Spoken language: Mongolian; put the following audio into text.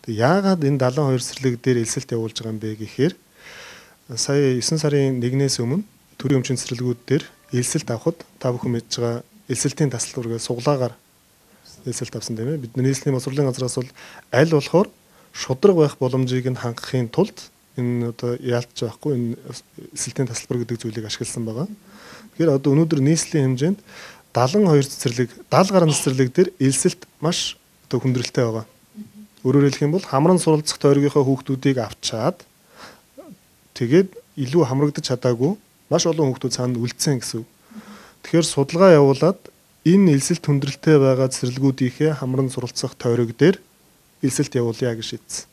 Тэг яагаад энэ 72 цэцэрлэг дээр элсэлт явуулж байгаа юм бэ гэхээр сая 9 сарын 1-ээс өмнө төрийн өмчийн цэцэрлэгүүд дээр элсэлт авахд та бүхэн мэдж байгаа элсэлтийн тасалбар гэж суглаагаар элсэлт авсан тийм ээ. Бидний нийслэлийн боловсролын газраас бол аль болохоор шудраг байх боломжийг нь хангахын тулд энэ одоо яалтж байхгүй энэ элсэлтийн тасалбар гэдэг зүйлийг ашигласан байгаа. Тэгэхээр одоо өнөөдөр нийслэлийн хэмжээнд 72 цэцэрлэг 70 гаруй цэцэрлэг дээр элсэлт маш одоо хүндрэлтэй байгаа. Өөрөөр хэлэх юм бол хамран суралцах тойргийнхаа хүүхдүүдийг авчаад тэгээд илүү хамрагдаж чадаагүй маш олон хүүхдүүд цаана үлдсэн гэсэн. Тэгэхээр судалгаа явуулаад энэ элсэлт хүндрэлтэй байгаа цэцэрлэгүүдийнхээ хамран суралцах тойрог дээр элсэлт явуулъя гэж шийдсэн.